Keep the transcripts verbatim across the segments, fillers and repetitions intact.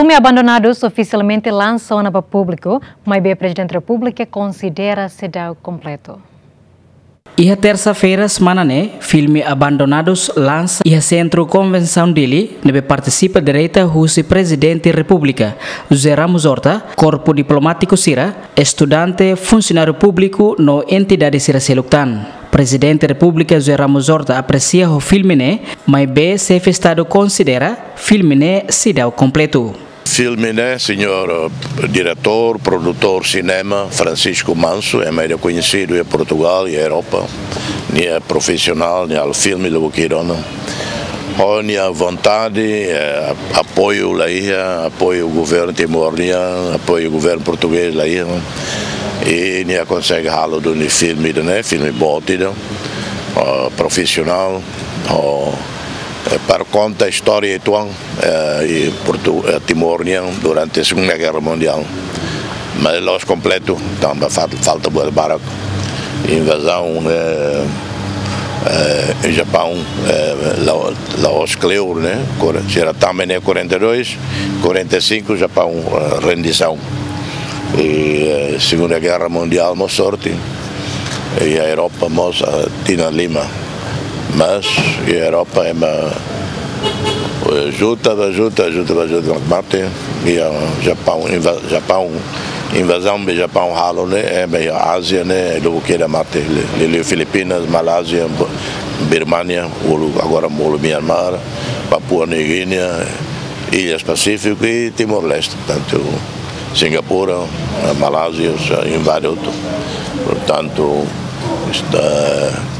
Filme Abandonadus ofisialmente lansa ona ba públiku, maibé Prezidente Repúblika konsidera seidauk kompletu. Iha tersa-feira semana ne'e, filme Abandonadus lansa iha Sentru Konvensaun Dili, ne'ebé partisipa direta husi Prezidente Repúblika, José Ramos Horta, korpu diplomátiku sira, estudante, funsionáriu públiku no entidade sira seluk tan. Prezidente Repúblika José Ramos Horta apresia ho filme ne'e, maibé Xefe Estadu konsidera filme ne'e seidauk kompletu. Filme ne'e, señór, eh, diretór, produtór sinema, Francisco Manso, ema ida koñesidu iha Portugal, iha Europa. Nia profisionál, nia halo filme lubuk ida ona. Ho nia vontade, eh, apoiu la iha, apoiu governu Timor nian, apoiu governu portugés la iha. I nia konsege halo duni filme ida ne'e, filme boot ida, eh, profisionál, ho, eh, para konta istória uitoan, eh, i Portu-, eh, Timor nian durante Segunda Guerra Mundiál. Mas la'ós kompletu, tanba fal-, falta buat barak. Invazaun, eh, eh, Japaun, eh, la-, la'ós kleur, ne'e? Kore-, sira tama ne'e quarenta e dois, quarenta e cinco, Japaun, eh, rendisaun. I, eh, Segunda Guerra Mundiál mós sorte. I Europa mós, eh, tinan lima. Mas iha Europa ema, eh, ajuda, ajuda, ajuda, ajuda, mate. Iha Japaun, inva-, Japaun, invazaun be Japaun halo ne'e, ema iha Ázia ne'e, lubuk ida mate. Li-, li-, liu Filipinas, Malázia, B-, Birmania, uluk, agora uluk Myanmar, Papua Nova Guiné, Ilhas Pacífico i Timor-Leste. Portantu, Singapura, eh, Malázia, eh, invade hotu. Portantu, esta,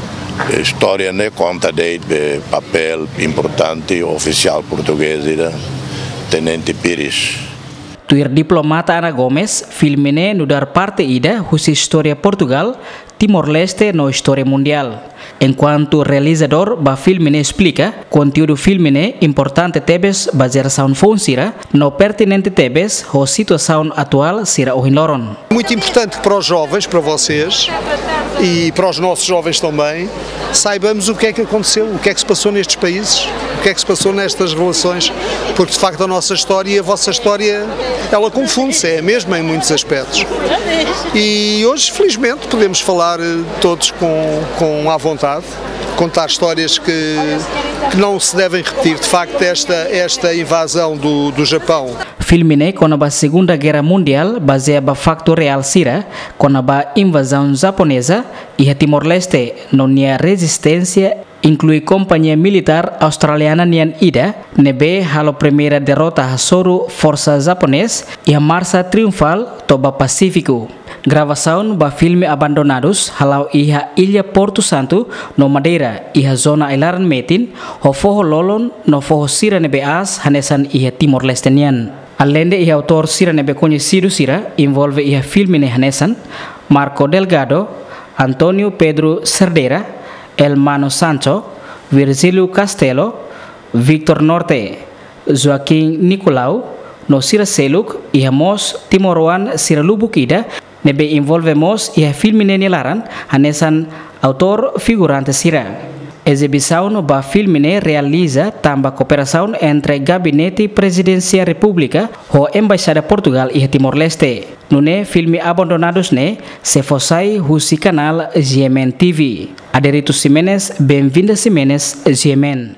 istória ne'e konta de'it be papél importante ofisiál portugés ida, Tenente Pires. Tuir diplomata Ana Gomes, filme ne'e nu'udar parte ida husi istória Portugal, Timor-Leste no istória mundiál. Enkuantu realizadór ba filme ne'e esplika, konteúdu filme ne'e importante tebes ba jerasaun foun sira, no pertinente tebes ho situasaun atuál sira ohin loron. Muito importante para os jovens, para vocês e para os nossos jovens também, saibamos o que é que aconteceu, o que é que se passou nestes países, o que é que se passou nestas relações, porque de facto a nossa história e a vossa história, ela confunde-se, é a mesma em muitos aspectos. E hoje, felizmente, podemos falar, eh, todos com, com à vontade, contar histórias que, que não se devem repetir. De facto, esta, esta invasão do, do Japão. Filme ne'e kona-ba Segunda Guerra Mundiál, bazeia ba faktu reál sira, kona-ba invazaun japoneza iha Timor-Leste, no nia rezisténsia, inklui kompañia militár australiana nian ida, ne'ebé halo primeira derrota hasoru forsa japonés iha marsa triunfál to'o ba Pasífiku. Gravasaun ba filme Abandonadus hala'o iha Illa Portu Santu no Madeira, iha zona ai-laran metin, ho foho lolon no foho sira ne'ebé aas hanesan iha Timor-Leste nian. Aleinde iha autór sira ne'ebé koñesidu sira envolve iha filme ne'e hanesan Marco Delgado, António Pedro Cerdeira, Elmano Sancho, Virgílio Castelo, Victor Norte, Joaquim Nicolau, no sira seluk, iha mós timoroan sira lubuk ida, ne'ebé envolve mós iha filme ne'e nia laran, hanesan autór figurante sira. Ezibisaun ba filme ne'e realiza tanba kooperasaun entre Gabinete Prezidénsia Repúblika ho Embaixada Portugal iha Timor-Leste. Nune'e filme Abandonadus ne'e sei fó sai husi kanál G M N T V. Aderito Ximenes, Benvinda Ximenes, G M N.